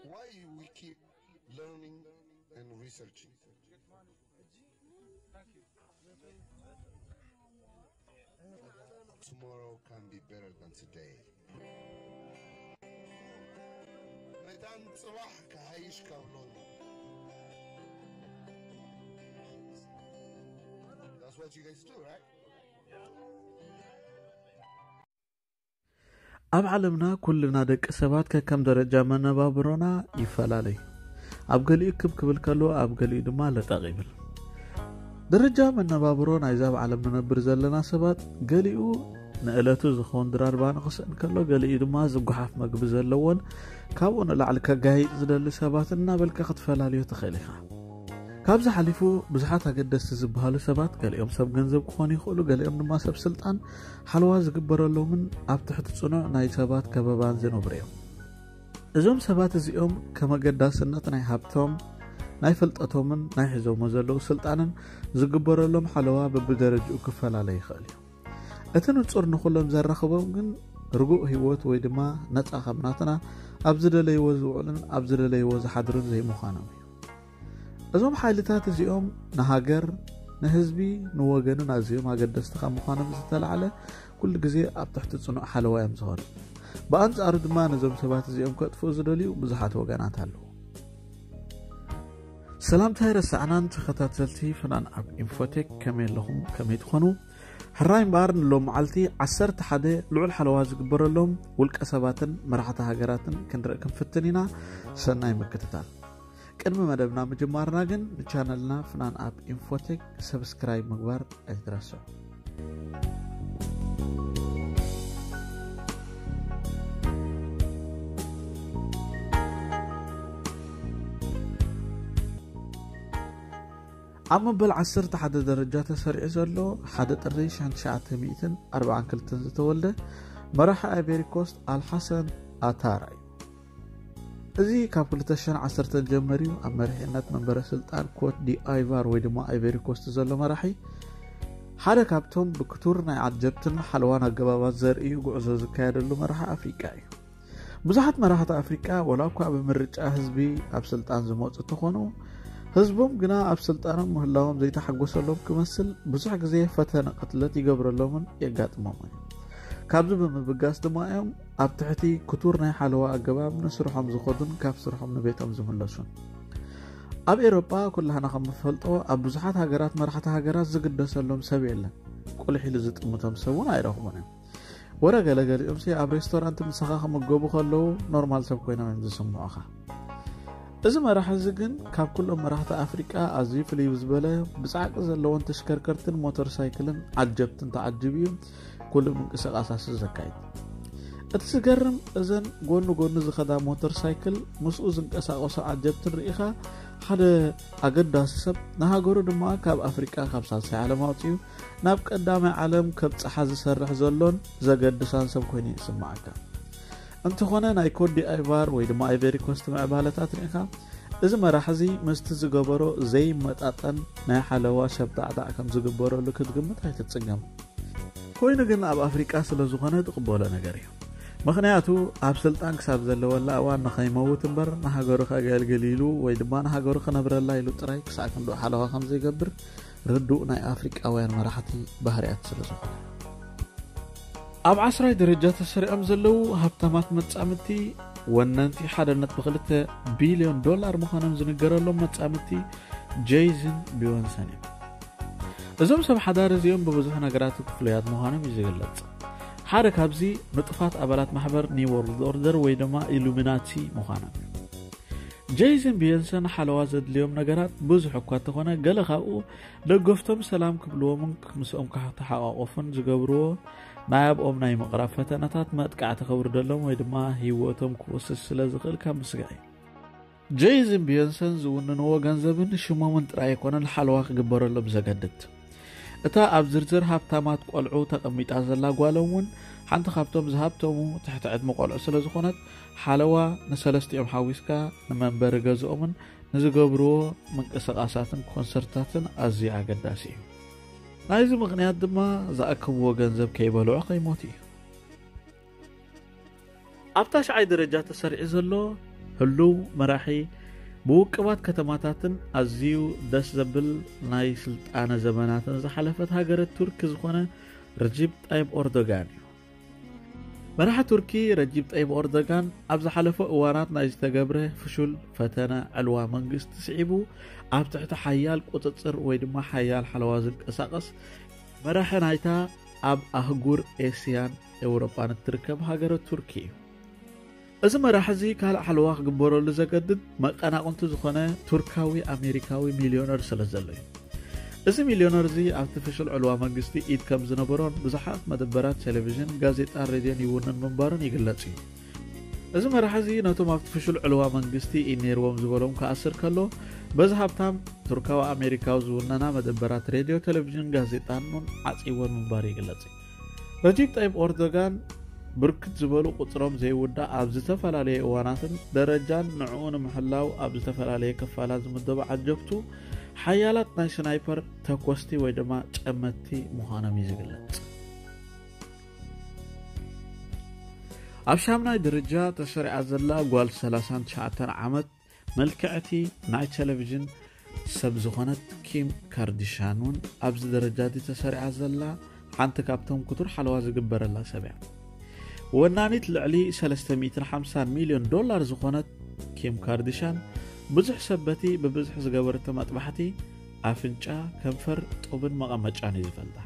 Why we keep learning and researching? Tomorrow can be better than today. መታን ጽባሕ ክሓይሽ ካብ ሎሚ። That's what you guys do, right? ኣብ ዓለምና ኩልና ደቂ ሰባት ከከም ደረጃ መነባብሮና ይፈላለዩ። ኣብ ገሊኡ ክብ ክብል ከሎ ኣብ ገሊኡ ድማ ለጠቕ ይብል። ደረጃ መነባብሮ ናይዛ ኣብ ዓለም ንነብር ዘለና ሰባት ገሊኡ ንእለቱ ዝኸውን ድራርባ ንኽስእን ከሎ ገሊኡ ድማ ዝጓሓፍ መግቢ ዘለዎን ካብኡ ንላዕሊ ከጋይጥ ዝደሊ ሰባት እናበልካ ክትፈላልዮ ትኽእል ኢኻ። ካብዚ ሓሊፉ ብዙሓት ኣገደስቲ ዝበሃሉ ሰባት ገሊኦም ሰብ ገንዘብ ክኾኑ ይኽእሉ፣ ገሊኦም ድማ ሰብ ስልጣን ሓለዋ ዝግበረሎምን ኣብ ትሕቲ ጽኑዕ ናይ ሰባት ከበባን ዝነብሩ እዮም። እዞም ሰባት እዚኦም ከም ኣገዳስነት ናይ ሃብቶም ናይ ፍልጠቶምን ናይ ሒዞሞ ዘለዉ ስልጣንን ዝግበረሎም ሓለዋ በብደረጅኡ ክፈላለ ይኽእል እዩ። እቲ ንጹር ንኹሎም ዘራኽቦም ግን ርጉእ ህይወት ወይ ድማ ነጻ ከም ናትና ኣብ ዝደለይዎ ዝውዕሉን ኣብ ዝደለይዎ ዝሓድሩን ዘይምዃኖም እዩ። እዞም ሓይልታት እዚኦም ንሃገር፣ ንህዝቢ፣ ንወገንን ኣዝዮም ኣገደስቲ ካብ ምዃኖም ዝተላዕለ ኩሉ ግዜ ኣብ ትሕቲ ጽኑዕ ሓለዋ እዮም ዝኾኑ። ብኣንጻሩ ድማ ነዞም ሰባት እዚኦም ከጥፍኡ ዝደልዩ ብዙሓት ወገናት ኣለዉ። ሰላምታ ኣይረሳዕናን ተኸታተልቲ ፍናን ኣብ ኢንፎቴክ ከመይ ኣለኹም ከመይ ትኾኑ? ሕራይ እምበኣር ንሎም መዓልቲ ዓሰርተ ሓደ ልዑል ሓለዋ ዝግበረሎም ውልቀ ሰባትን መራሕቲ ሃገራትን ክንርኢ ክንፍትን ኢና። ሰናይ ምክትታል። ቅድሚ መደብና ምጅማርና ግን ንቻነልና ፍናን ኣብ ኢንፎቴክ ሰብስክራይብ ምግባር ኣይትረስዑ። ኣብ መበል ዓሰርተ ሓደ ደረጃ ተሰሪዑ ዘሎ ሓደ ጥሪ ሽሕን ትሽዓተ ሚእትን ኣርባዓን ክልተን ዝተወልደ መራሒ ኣይቬሪ ኮስት ኣልሓሰን ኣታራ እዩ። እዚ ካብ ክልተ ሽሕን ዓሰርተን ጀመርዩ ኣብ መሪሕነት መንበረ ስልጣን ኮት ዲ ኣይቫር ወይ ድማ ኣይቬሪ ኮስት ዘሎ መራሒ ሓደ ካብቶም ብክቱር ናይ ዓጀብትን ሓለዋን ኣገባባት ዘርእዩ ጉዕዞ ዝካየደሉ መራሒ ኣፍሪቃ እዩ። ብዙሓት መራሕቲ ኣፍሪቃ ወላ እኳ ብምርጫ ህዝቢ ኣብ ስልጣን ዝመፁ እንተኾኑ ህዝቦም ግና ኣብ ስልጣኖም ምህላዎም ዘይተሓጎሰሎም ክመስል ብዙሕ ግዜ ፈተነ ቅትለት ይገብረሎምን የጋጥሞምን እዩ። ካብዚ ብምብጋስ ድማ እዮም ኣብ ትሕቲ ክቱር ናይ ሓለዋ ኣገባብ ንስርሖም ዝኸዱን ካብ ስርሖም ንቤቶም ዝምለሱን። ኣብ ኤሮጳ ኩላህና ከም ንፈልጦ ኣብ ብዙሓት ሃገራት መራሕቲ ሃገራት ዝግደሰሎም ሰብ የለን። ቁልሕ ኢሉ ዝጥምቶም ሰብ እውን ኣይረኽቡን እዮም። ወረ ገለገሊኦም ሲ ኣብ ሬስቶራንት ምሳኻ ክምገቡ ከለዉ ኖርማል ሰብ ኮይኖም እዮም ዝስምዑኻ። እዚ መራሒ እዚ ግን ካብ ኩሎም መራሕቲ ኣፍሪቃ ኣዝዩ ፍልይ ዝበለ ብጻዕቂ ዘለዎን ተሽከርከርትን ሞተር ሳይክልን ዓጀብትን ተዓጂቡ እዩ ኩሉ ምንቅስቃሳሱ ዘካይድ። እቲ ዝገርም እዘን ጎኑ ጎኑ ዝኸዳ ሞተር ሳይክል ምስኡ ዝንቀሳቀሱ ዓጀብትን ርኢኻ ሓደ ኣገዳሲ ሰብ ንሃገሩ ድማ ካብ ኣፍሪቃ ካብ ሳልሳይ ዓለም ኣውፅኡ ናብ ቀዳማይ ዓለም ከብፅሓ ዝሰርሕ ዘሎን ዘገድሳን ሰብ ኮይኑ ይስማዓካ። እንተኾነ ናይ ኮት ዲኣይቫር ወይ ድማ ኣይቨሪ ኮስት ምዕባለታት ርኢኻ እዚ መራሒ እዚ ምስቲ ዝገበሮ ዘይመጣጠን ናይ ሓለዋ ሸብዳዕዳዕ ከም ዝግበረሉ ክትግምት ኣይትፅገም። ኮይኑ ግን ኣብ ኣፍሪቃ ስለ ዝኾነ ትቕበሎ ነገር እዩ። ምኽንያቱ ኣብ ስልጣን ክሳብ ዘለወላ እዋን ንኸይመውት እምበር ንሃገሩ ከገልግል ኢሉ ወይ ድማ ንሃገሩ ክነብረላ ኢሉ ጥራይ ክሳዕ ክንድኡ ሓለዋ ከም ዘይገብር ርዱእ ናይ ኣፍሪቃውያን መራሕቲ ባህርያት ስለ ዝኾነ። ኣብ ዓስራይ ደረጃ ተሰሪዖም ዘለዉ ሃብታማት መጻምድቲ ወነንቲ ሓደነት ብክልተ ቢልዮን ዶላር ምዃኖም ዝንገረሎም መጻምድቲ ጄይዝን ቢዮንሰን እዮም። እዞም ሰብ ሓዳር እዚኦም ብብዙሕ ነገራት ፍሉያት ምዃኖም እዩ ዝግለጽ። ሓደ ካብዚ ንጡፋት ኣባላት ማሕበር ኒው ወርልድ ኦርደር ወይ ድማ ኢሉሚናቲ ምዃኖም እዩ። ጄይዝን ቢዮንሰን ሓለዋ ዘድልዮም ነገራት ብዙሕ እኳ እንተኾነ ገለ ካብኡ ደገፍቶም ሰላም ክብልዎምን ምስኦም ክተሓቋቆፉን ዝገብርዎ ናይ ኣብኦም ናይ ምቕራብ ፈተነታት መጥቃዕቲ ከውርደሎም ወይ ድማ ህይወቶም ክወስድ ስለ ዝኽእል ካብ ምስጋእ እዩ። ጄይዝን ቢዮንሰን ዝውንንዎ ገንዘብን ሽሞምን ጥራይ ኣይኮነን ሓለዋ ክግበረሎም ዘገድድ። እታ ኣብ ዝርዝር ሃብታማት ቆልዑ ተቐሚጣ ዘላ ጓሎም እውን ሓንቲ ካብቶም ዝሃብተሙ ትሕቲ ዕድመ ቆልዑ ስለ ዝኾነት ሓለዋ ንሰለስቲኦም ሓዊስካ ንመንበሪ ገዝኦምን ንዝገብርዎ ምንቅስቃሳትን ኮንሰርታትን ኣዝዩ ኣገዳሲ እዩ። ናይዚ ምኽንያት ድማ ዝኣከብዎ ገንዘብ ከይበልዑ ከይሞቱ እዩ። ኣብ ታሽዓይ ደረጃ ተሰሪዑ ዘሎ ህሉው መራሒ፣ ብውቅባት ከተማታትን ኣዝዩ ደስ ዘብል ናይ ስልጣነ ዘመናትን ዝሓለፈት ሃገረ ቱርኪ ዝኾነ ረጂብ ጣይብ ኦርዶጋን እዩ። መራሒ ቱርኪ ረጂብ ጣይብ ኦርዶጋን ኣብ ዝሓለፈ እዋናት ናይ ዝተገብረ ፍሹል ፈተነ ዕልዋ መንግስቲ ስዒቡ፣ ኣብ ትሕቲ ሓያል ቁጽጽር ወይ ድማ ሓያል ሓለዋ ዝንቀሳቐስ መራሒ ናይታ ኣብ ኣህጉር ኤስያን ኤውሮጳን እትርከብ ሃገረ ቱርኪ እዩ። እዚ መራሒ እዚ ካልእ ሓለዋ ክግበረሉ ዘገድድ መቐናቕንቱ ዝኾነ ቱርካዊ ኣሜሪካዊ ሚልዮነር ስለ ዘሎ እዩ። እዚ ሚልዮነር እዚ ኣብቲ ፍሹል ዕልዋ መንግስቲ ኢድ ከም ዝነበሮን ብዙሓት መደበራት ቴሌቪዥን፣ ጋዜጣን ሬድዮን ይውንን ምንባሩን ይግለጽ እዩ። እዚ መራሒ እዚ ነቶም ኣብቲ ፍሹል ዕልዋ መንግስቲ ኢድ ነይርዎም ዝበሎም ክኣስር ከሎ፣ በዚ ሃብታም ቱርካዊ ኣሜሪካዊ ዝውነና መደበራት ሬድዮ፣ ቴሌቪዥን፣ ጋዜጣን እውን ዓጺወን ምንባሩ ይግለጽ እዩ። ረጂብ ጣይብ ኦርዶጋን ብርክት ዝበሉ ቁጽሮም ዘይውዳእ ኣብ ዝተፈላለየ እዋናትን ደረጃን ንዕኡ ንምሕላው ኣብ ዝተፈላለየ ክፋላት ዝምደቡ ዓጀብቱ ሓያላት ናይ ስናይፐር ተኮስቲ ወይ ድማ ጨመትቲ ምዃኖም እዩ ዝግለጽ። ኣብ ሻምናይ ደረጃ ተሰሪዓ ዘላ ጓል ሰላሳን ትሽዓተን ዓመት መልክዕቲ ናይ ቴሌቪዥን ሰብ ዝኾነት ኪም ካርዲሻን እውን ኣብዚ ደረጃ እዚ ተሰሪዓ ዘላ ሓንቲ ካብቶም ክቱር ሓለዋ ዝግበረላ ሰብ እያ። ወናኒት ልዕሊ ሰለስተ ሚእትን ሓምሳን ሚልዮን ዶላር ዝኾነት ኪም ካርዲሻን ብዙሕ ሰብ በቲ ብብዝሒ ዝገበረቶ መጥባሕቲ ኣፍንጫ፣ ከንፈር፣ ጡብን መቐመጫን እዩ ዝፈልጣ።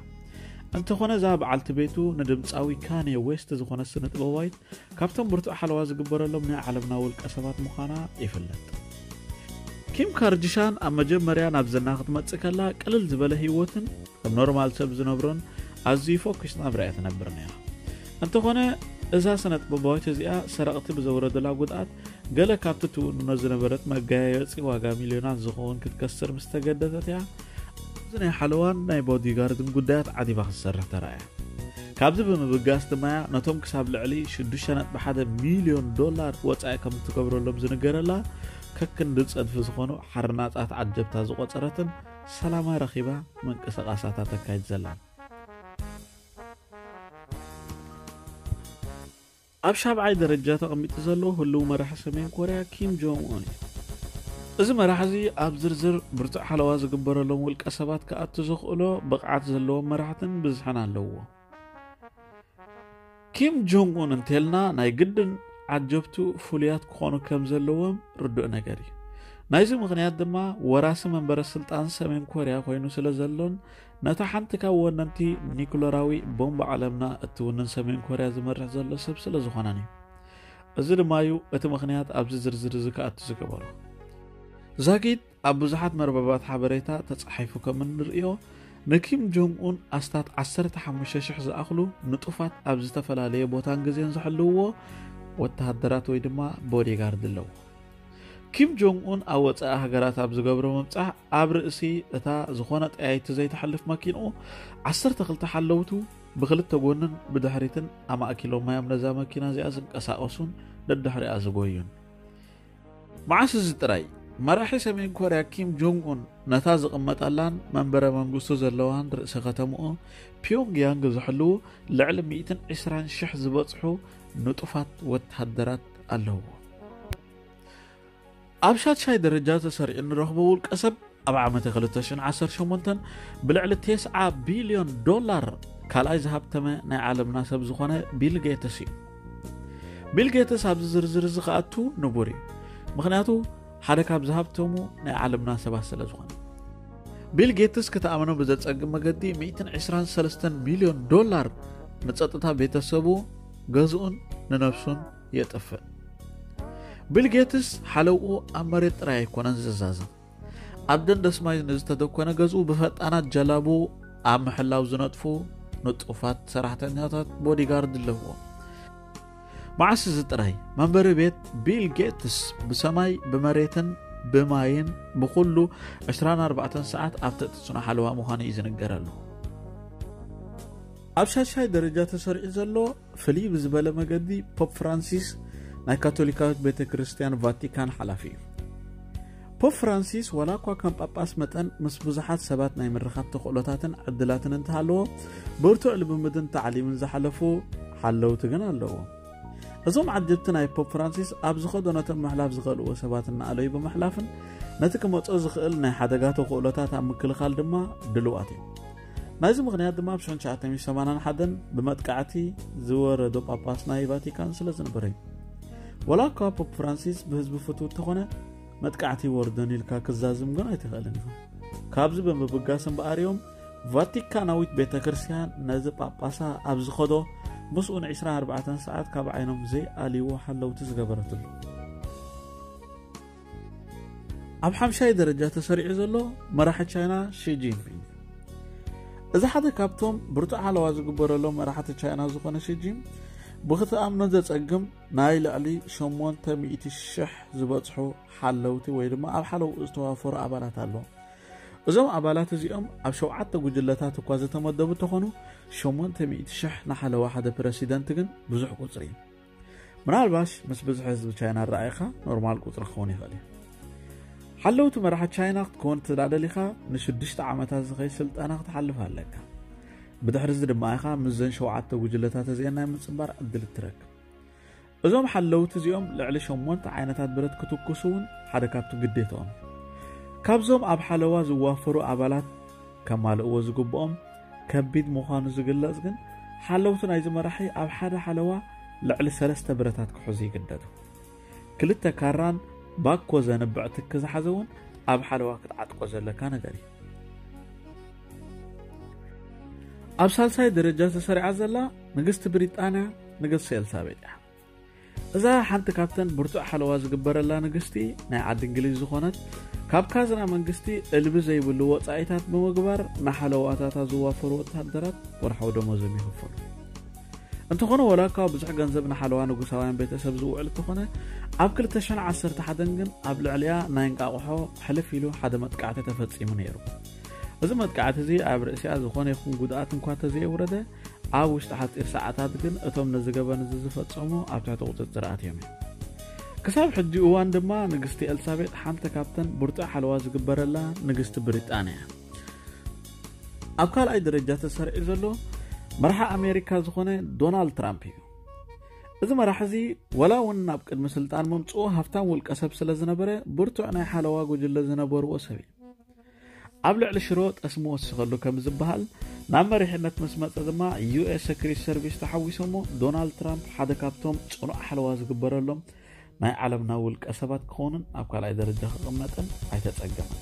እንተኾነ እዛ በዓልቲ ቤቱ ንድምፃዊ ካንየ ዌስት ዝኾነ ስነ ጥበባዊት ካብቶም ብርቱዕ ሓለዋ ዝግበረሎም ናይ ዓለምና ውልቀ ሰባት ምዃና ይፍለጥ። ኪም ካርዲሻን ኣብ መጀመርያ ናብ ዝና ክትመጽእ ከላ ቅልል ዝበለ ህይወትን ከም ኖርማል ሰብ ዝነብሮን ኣዝዩ ፎኪስ ናብራ እያ ትነብር ነይራ። እንተኾነ እዛ ስነ ጥበባዊት እዚኣ ሰረቕቲ ብዘውረዱላ ጉድኣት ገለ ካብቲ ትውንኖ ዝነበረት መጋየፂ ዋጋ ሚልዮናት ዝኸውን ክትከስር ምስ ተገደደት እያ ኣብዚ ናይ ሓለዋን ናይ ቦዲጋርድን ጉዳያት ዓቲባ ክትሰርሕ ተራእያ። ካብዚ ብምብጋስ ድማ እያ ነቶም ክሳብ ልዕሊ ሽዱሽተ ነጥቢ ሓደ ሚልዮን ዶላር ወፃኢ ከም እትገብረሎም ዝንገረላ ከክንዲ ፀድፊ ዝኾኑ ሓርናፃት ዓጀብታ ዝቆፀረትን ሰላማ ረኺባ ምንቅስቓሳታ ተካይድ ዘላን። ኣብ ሻብዓይ ደረጃ ተቐሚጡ ዘሎ ህልው መራሒ ሰሜን ኮርያ ኪም ጆንግ ኡን እዩ። እዚ መራሒ እዚ ኣብ ዝርዝር ብርቱዕ ሓለዋ ዝግበረሎም ውልቀ ሰባት ክኣቱ ዘኽእሎ ብቕዓት ዘለዎም መራሕትን ብዝሕን ኣለውዎ። ኪም ጆንግ ኡን እንተልና ናይ ግድን ዓጀብቱ ፍሉያት ክኾኑ ከም ዘለዎም ርዱእ ነገር እዩ። ናይዚ ምኽንያት ድማ ወራሲ መንበረ ስልጣን ሰሜን ኮርያ ኮይኑ ስለ ዘሎን ነታ ሓንቲ ካብ ወነንቲ ኒኩለራዊ ቦምብ ዓለምና እትውንን ሰሜን ኮርያ ዝመርሕ ዘሎ ሰብ ስለ ዝኾነን እዩ። እዚ ድማ እዩ እቲ ምኽንያት ኣብዚ ዝርዝር እዚ ክኣቱ ዝገበሮ። ዛጊት ኣብ ብዙሓት መርበባት ሓበሬታ ተጻሒፉ ከም እንርእዮ ንኪም ጆንግ ኡን ኣስታት ዓሰርተ ሓሙሽተ ሽሕ ዝኣኽሉ ንጡፋት ኣብ ዝተፈላለየ ቦታን ግዜን ዝሕልውዎ ወተሃደራት ወይ ድማ ቦዲጋርድ ኣለዎ። ኪም ጆንግ ኡን ኣብ ወጻኢ ሃገራት ኣብ ዝገብሮ ምብጻሕ ኣብ ርእሲ እታ ዝኾነ ጠያይቲ ዘይትሓልፍ መኪንኡ ዓሰርተ ክልተ ሓለውቱ ብክልተ ጎንን ብድሕሪትን ኣማእኪሎማ እዮም ነዛ መኪና እዚኣ ዝንቀሳቐሱን ደድሕሪኣ ዝጎዩን። መዓስ እዚ ጥራይ መራሒ ሰሜን ኮርያ ኪም ጆንግ ኡን ነታ ዝቕመጠላን መንበረ መንግስቱ ዘለዋን ርእሰ ከተምኡ ፒዮንግ ያንግ ዝሕልዉ ልዕሊ ሚእትን ዕስራን ሽሕ ዝበጽሑ ንጡፋት ወተሃደራት ኣለውዎ። ኣብ ሻድሻይ ደረጃ ተሰሪዑ እንረኽቦ ውልቀ ሰብ ኣብ ዓመተ ክልተ ሽሕን ዓሰርተ ሸሞንተን ብልዕሊ ተስዓ ቢልዮን ዶላር ካልኣይ ዝሃብተመ ናይ ዓለምና ሰብ ዝኾነ ቢል ጌትስ እዩ። ቢል ጌትስ ኣብዚ ዝርዝር እዚ ክኣቱ ንቡር እዩ። ምኽንያቱ ሓደ ካብ ዝሃብተሙ ናይ ዓለምና ሰባት ስለ ዝኾነ። ቢል ጌትስ ክትኣምኖ ብዘጸግም መገዲ ሚእትን ዕስራን ሰለስተን ሚልዮን ዶላር ንጸጥታ ቤተሰቡ፣ ገዝኡን ንነብሱን የጥፍእ። ቢል ጌትስ ሓለውኡ ኣብ መሬት ጥራይ ኣይኮነን ዝዛዘም። ኣብ ደንደስ ማይ ንዝተደኮነ ገዝኡ ብፈጣናት ጀላቡ ኣብ ምሕላው ዝነጥፉ ንጡፋት ሰራሕተኛታት ቦዲጋርድ ኣለዎ። መዓስ እዚ ጥራይ መንበሪ ቤት ቢል ጌትስ ብሰማይ ብመሬትን ብማይን ብኹሉ ዕስራን ኣርባዕተን ሰዓት ኣብ ትሕቲ ጽኑዕ ሓለዋ ምዃኑ እዩ ዝንገረሉ። ኣብ ሻሻይ ደረጃ ተሰሪዑ ዘሎ ፍልይ ብዝበለ መገዲ ፖፕ ፍራንሲስ ናይ ካቶሊካዊት ቤተ ክርስቲያን ቫቲካን ሓላፊ እዩ። ፖፕ ፍራንሲስ ዋላ እኳ ከም ጳጳስ መጠን ምስ ብዙሓት ሰባት ናይ ምርኻብ ተኽእሎታትን ዕድላትን እንተሃለዎ ብርቱዕ ልምምድን ታዕሊምን ዝሓለፉ ሓለውቲ ግን ኣለዎ። እዞም ዓጀብቲ ናይ ፖፕ ፍራንሲስ ኣብ ዝኸዶ ነቶም ምሕላፍ ዝኽእልዎ ሰባት እናኣለዩ ብምሕላፍን ነቲ ክመጾ ዝኽእል ናይ ሓደጋ ተኽእሎታት ኣብ ምክልኻል ድማ ድልዋት እዮም። ናይዚ ምኽንያት ድማ ኣብ ሽሕን ትሽዓተ ሚእትን ሰማንያን ሓደን ብመጥቃዕቲ ዝወረዶ ጳጳስ ናይ ቫቲካን ስለ ዝነበረ እዩ። ወላ እኳ ፖፕ ፍራንሲስ ብህዝቢ ፍቱው እንተኾነ፣ መጥቃዕቲ ይወርዶን ኢልካ ክዛዝም ግን ኣይትኽእልን ኢኻ። ካብዚ ብምብጋስ እምበኣር እዮም ቫቲካናዊት ቤተ ክርስቲያን ነዚ ጳጳሳ ኣብ ዝኸዶ ምስኡ ን ዕስራን ኣርባዕተን ሰዓት ካብ ዓይኖም ዘይኣልይዎ ሓለውቲ ዝገበረትሉ። ኣብ ሓምሻይ ደረጃ ተሰሪዑ ዘሎ መራሒ ቻይና ሺ ጂንፒንግ። እዚ ሓደ ካብቶም ብርቱዕ ሓለዋ ዝግበረሎም መራሕቲ ቻይና ዝኾነ ሺ ጂን ብክትኣምኖ ዘጸግም ናይ ልዕሊ ሸሞንተ ሚእቲ ሽሕ ዝበጽሑ ሓለውቲ ወይ ድማ ኣብ ሓለውኡ ዝተዋፈሩ ኣባላት ኣለዎ። እዞም ኣባላት እዚኦም ኣብ ሸውዓተ ጉጅለታት እኳ ዝተመደቡ እንተኾኑ፣ ሸሞንተ ሚእቲ ሽሕ ንሓለዋ ሓደ ፕረሲደንት ግን ብዙሕ ቁጽሪ እዩ። ምናልባሽ ምስ ብዝሒ ህዝቢ ቻይና ኣረኣኢኻ ኖርማል ቁጽሪ ክኸውን ይኽእል እዩ። ሓለውቲ መራሒ ቻይና ክትከውን ትዳደሊኻ ንሽዱሽተ ዓመታት ዝኸይድ ስልጠና ክትሓልፍ ኣለካ። ብድሕሪ እዚ ድማ ኢኻ ምስዘን ሸውዓተ ጉጅለታት እዚአን ናይ ምጽንባር ዕድል እትረክብ። እዞም ሓለውቲ እዚኦም ልዕሊ ሸሞንተ ዓይነታት ብረት ክትኩሱ እውን ሓደ ካብቲ ግዴታኦም እዩ። ካብዞም ኣብ ሓለዋ ዝዋፈሩ ኣባላት ከማልእዎ ዝግብኦም ከቢድ ምዃኑ ዝግለጽ ግን፣ ሓለውቲ ናይዚ መራሒ ኣብ ሓደ ሓለዋ ልዕሊ ሰለስተ ብረታት ክሕዙ ይግደዱ። ክልተ ካራን ባኮ ዘንብዕ ትኪ ዝሓዘ እውን ኣብ ሓለዋ ክትዓጥቆ ዘለካ ነገር እዩ። ኣብ ሳልሳይ ደረጃ ተሰሪዓ ዘላ ንግስቲ ብሪጣንያ ንግስቲ ኤልሳቤጥ እያ። እዛ ሓንቲ ካብተን ብርቱዕ ሓለዋ ዝግበረላ ንግስቲ ናይ ዓዲ እንግሊዝ ዝኾነት፣ ካብ ካዝና መንግስቲ እልቢ ዘይብሉ ወጻኢታት ብምግባር ንሓለዋታታ ዝዋፈሩ ወታደራት ወርሓዊ ደሞዞም ይኽፈሉ። እንተኾነ፣ ወላ እኳ ብዙሕ ገንዘብ ንሓለዋ ንጉሳውያን ቤተሰብ ዝውዕል እንተኾነ፣ ኣብ ክልተ ሽሕን ዓሰርተ ሓደን ግን ኣብ ልዕሊኣ ናይ እንቃቑሖ ሕልፍ ኢሉ ሓደ መጥቃዕቲ ተፈጺሙ ነይሩ። እዚ መጥቃዕቲ እዚ ኣብ ርእሲኣ ዝኾነ ይኹን ጉድኣት እንኳ ተዘየውረደ፣ ኣብ ውሽጢ ሓጺር ሰዓታት ግን እቶም ነዚ ገበን እዚ ዝፈጸሙ ኣብ ትሕቲ ቁጽጽር ኣትዮም እዮም። ክሳብ ሕጂ እዋን ድማ ንግስቲ ኤልሳቤጥ ሓንቲ ካብተን ብርቱዕ ሓለዋ ዝግበረላ ንግስቲ ብሪጣንያ እያ። ኣብ ካልኣይ ደረጃ ተሰሪዑ ዘሎ መራሒ ኣሜሪካ ዝኾነ ዶናልድ ትራምፕ እዩ። እዚ መራሒ እዚ ወላ እውን ናብ ቅድሚ ስልጣን ምምጽኡ ሃፍታም ውልቀ ሰብ ስለ ዝነበረ ብርቱዕ ናይ ሓለዋ ጉጅለ ዝነበርዎ ሰብ እዩ። ኣብ ልዕሊ ሽሮ ጠስሚ ወሲኸሉ ከም ዝበሃል፣ ናብ መሪሕነት ምስ መጸ ድማ ዩ ኤስ ሰክሪት ሰርቪስ ተሓዊሶሞ ዶናልድ ትራምፕ ሓደ ካብቶም ጽኑዕ ሓለዋ ዝግበረሎም ናይ ዓለምና ውልቀ ሰባት ክኾንን ኣብ ካልኣይ ደረጃ ክቕመጥን ኣይተጸገመን።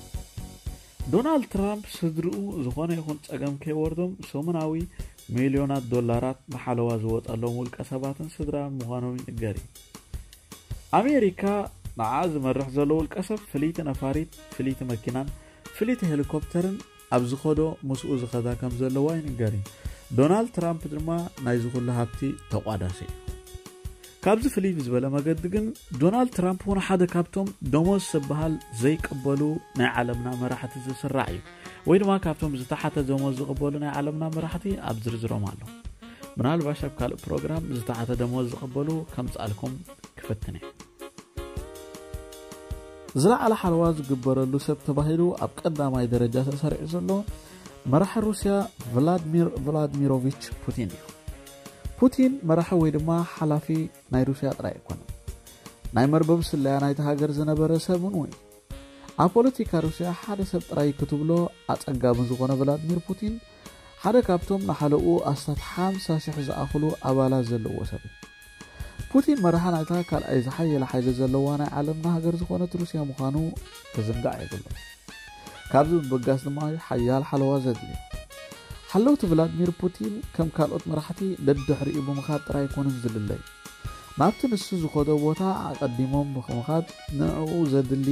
ዶናልድ ትራምፕ ስድርኡ ዝኾነ ይኹን ጸገም ከይወርዶም ሰሙናዊ ሚልዮናት ዶላራት ንሓለዋ ዝወጸሎም ውልቀ ሰባትን ስድራን ምዃኖም ይንገር እዩ። ኣሜሪካ ንዓ ዝመርሕ ዘሎ ውልቀ ሰብ ፍልይቲ ነፋሪት፣ ፍልይቲ መኪናን ፍልይቲ ሄሊኮፕተርን ኣብ ዝኸዶ ምስኡ ዝኸዳ ከም ዘለዋ ይንገር እዩ። ዶናልድ ትራምፕ ድማ ናይዚ ኩሉ ሃብቲ ተቋዳሲ እዩ። ካብዚ ፍልይ ብዝበለ መገዲ ግን ዶናልድ ትራምፕ እውን ሓደ ካብቶም ደሞዝ ዝበሃል ዘይቅበሉ ናይ ዓለምና መራሕቲ ዝስራዕ እዩ። ወይ ድማ ካብቶም ዝተሓተ ደሞዝ ዝቕበሉ ናይ ዓለምና መራሕቲ ኣብ ዝርዝሮም ኣሎ። ምናልባሽ ኣብ ካልእ ፕሮግራም ዝተሓተ ደሞዝ ዝቕበሉ ከምጽኣልኩም ክፍትን እየ። ዝለዓለ ሓለዋ ዝግበረሉ ሰብ ተባሂሉ ኣብ ቀዳማይ ደረጃ ተሰሪዑ ዘሎ መራሒ ሩስያ ቭላድሚር ቭላድሚሮቪች ፑቲን እዩ። ፑቲን መራሒ ወይ ድማ ሓላፊ ናይ ሩስያ ጥራይ ኣይኮነን። ናይ መርበብ ስለያ ናይቲ ሃገር ዝነበረ ሰብ እውን እዩ። ኣብ ፖለቲካ ሩስያ ሓደ ሰብ ጥራይ ክትብሎ ኣጸጋሚ ዝኾነ ቭላድሚር ፑቲን ሓደ ካብቶም ንሓለኡ ኣስታት ሓምሳ ሽሕ ዝኣኽሉ ኣባላት ዘለዎ ሰብ እዩ። ፑቲን መራሒ ናይታ ካልኣይ ዝሓየለ ሓይሊ ዘለዋ ናይ ዓለምና ሃገር ዝኾነት ሩስያ ምዃኑ ክዝንጋዕ የብሉን። ካብዚ ብምብጋስ ድማ ሓያል ሓለዋ ዘድልዮ። ሓለውቲ ቭላድሚር ፑቲን ከም ካልኦት መራሕቲ ደድሕሪኡ ብምኻድ ጥራይ ኣይኮኑን ዝልለዩ። ናብቲ ንሱ ዝኸዶ ቦታ ኣቐዲሞም ብምኻድ ንዕኡ ዘድሊ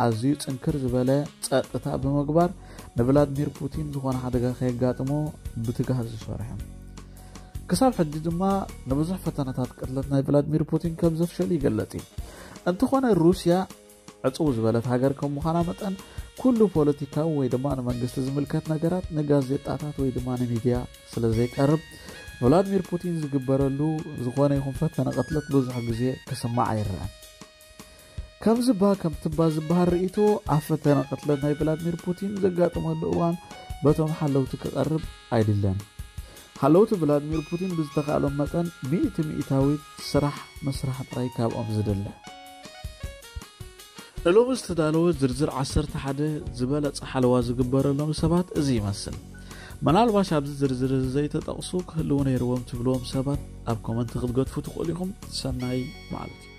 ኣዝዩ ጽንክር ዝበለ ጸጥታ ብምግባር ንቭላድሚር ፑቲን ዝኾነ ሓደጋ ከየጋጥሞ ብትግሃት ዝሰርሑ። ክሳብ ሕጂ ድማ ንብዙሕ ፈተነታት ቅትለት ናይ ቭላድሚር ፑቲን ከም ዘፍሸሉ ይገለጽ እዩ። እንተኾነ ሩስያ ዕጽው ዝበለት ሃገር ከም ምዃና መጠን ኩሉ ፖለቲካዊ ወይ ድማ ንመንግስቲ ዝምልከት ነገራት ንጋዜጣታት ወይ ድማ ንሚድያ ስለ ዘይቀርብ ቭላድሚር ፑቲን ዝግበረሉ ዝኾነ ይኹን ፈተነ ቅትለት ብዙሕ ግዜ ክስማዕ ኣይረኣን። ከምዚ ባ ከም ትባ ዝበሃል ርእይቶ ኣብ ፈተነ ቅትለት ናይ ቭላድሚር ፑቲን ዘጋጥመሉ እዋን በቶም ሓለውቲ ክቐርብ ኣይድለን። ሓለውቲ ቭላድሚር ፑቲን ብዝተኻእሎም መጠን ሚእቲ ሚእታዊት ስራሕ ምስራሕ ጥራይ ካብኦም ዝድለ። ንሎሚ ዝተዳለወ ዝርዝር ዓሰርተ ሓደ ዝበለጸ ሓለዋ ዝግበረሎም ሰባት እዚ ይመስል። ምናልባሽ ኣብዚ ዝርዝር እዚ ዘይተጠቕሱ ክህልዉ ነይርዎም ትብልዎም ሰባት ኣብ ኮመንት ክትገድፉ ትኽእሉ ኢኹም። ሰናይ መዓልቲ።